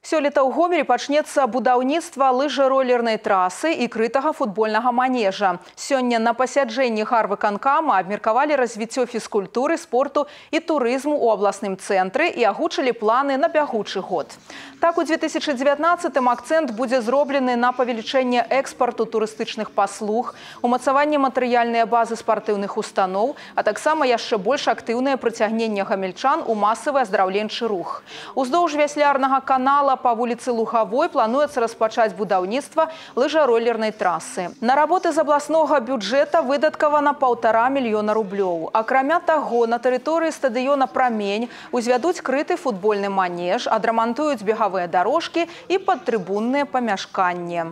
Сёлета ў Гомелі пачнецца будаўніцтва лыжа-ролернай трасы і крытага футбольнага манежа. Сёння на пасяджэнні гарвыканкама абмеркавалі развіццё фізкультуры, спорту і турызму ў абласным цэнтры і агучылі планы на бягучы год. Так, у 2019-м акцэнт будзе зроблены на павелічэнне экспарту турыстычных паслуг, умацаванне матэрыяльнай базы спартыўных устаноў, а таксама яшчэ больш актыўнае прыцягненне гамельчан у масавы аздараўленчы рух. Уздоўж вяслярнага канала па вуліцы Лугавой плануецца распачаць будаўніцтва лыжа-ролернай трасы. На работы з абласнога бюджэта выдаткавана 1,5 мільёна рублёў. Акрамя таго, на тэрыторыі стадыёна «Прамень» узвядуць крыты футбольны манеж, адрамантуюць бегавыя дарожкі і падтрыбунныя памяшканні.